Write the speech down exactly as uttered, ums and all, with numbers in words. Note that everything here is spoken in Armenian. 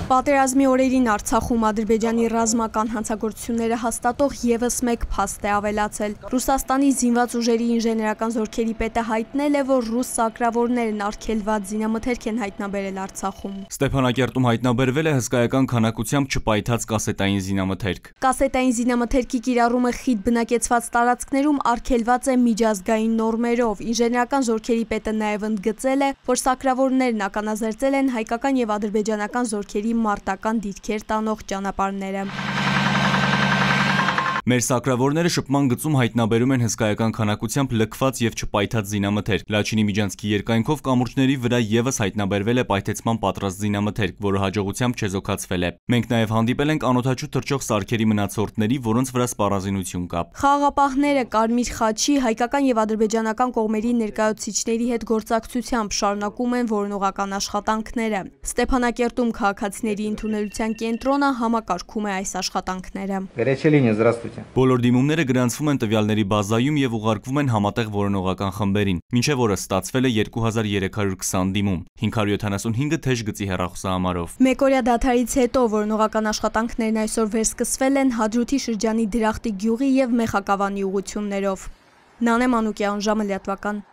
Պատերազմի օրերին Արցախում Ադրբեջանի ռազմական հանցագործությունները հաստատող ևս մեկ փաստ է ավելացել։ Ռուսաստանի զինված ուժերի ինժեներական զորքերի պետը հայտնել է, որ ռուս սակրավորներն արգելված զինամթերք են հայտնաբերել Արցախում։ Ստեփանակերտում հայտնաբերվել է հսկայական քանակությամբ չպայթած կասետային զինամթերք։ Կասետային զինամթերքի կիրառումը խիտ բնակեցված տարածքներում արգելված է միջազգային նորմերով։ Ինժեներական զորքերի պետը նաև ընդգծել է, որ սակրավորներն ականազերծել են հայկական եւ ադրբեջանական զորքերի մարտական դիրքեր տանող ճանապարհները։ Մեր սակրավորները շփման գծում հայտնաբերում են հսկայական քանակությամբ լքված եւ չպայթած զինամթերք։ Լաչինի միջանցքի երկայնքով կամուրջների վրա եւս հայտնաբերվել է պայթեցման պատրաստ զինամթերք, որը հաջողությամբ չեզոքացվել է։ Մենք նաեւ հանդիպել ենք անօդաչու թռչող սարքերի մնացորդների, որոնց վրա սպառազինություն կա։ Խաղաղապահները Կարմիր խաչի, հայկական եւ ադրբեջանական կողմերի ներկայացուցիչների հետ գործակցությամբ շարունակում են որոնողական աշխատանքները։ Ստեփանակերտում քաղաքացիների ընդունելության կենտրոնը համակարգում է այս աշխատանքները։ Բոլոր դիմումները գրանցվում են տվյալների բազայում եւ ուղարկվում են համատեղ որոնողական խմբերին, մինչեւ օրը ստացվել է երկու հազար երեք հարյուր քսան դիմում, հինգ հարյուր յոթանասունհինգը թեժ գծի հեռախոսահամարով։ Մեկօրյա դադարից հետո որոնողական աշխատանքներն այսօր վերսկսվել են Հադրութի շրջանի Դրախտի գյուղի եւ Մեխակավանի ուղություններով։ Նանե Մանուկյան, ժամը լրատվական։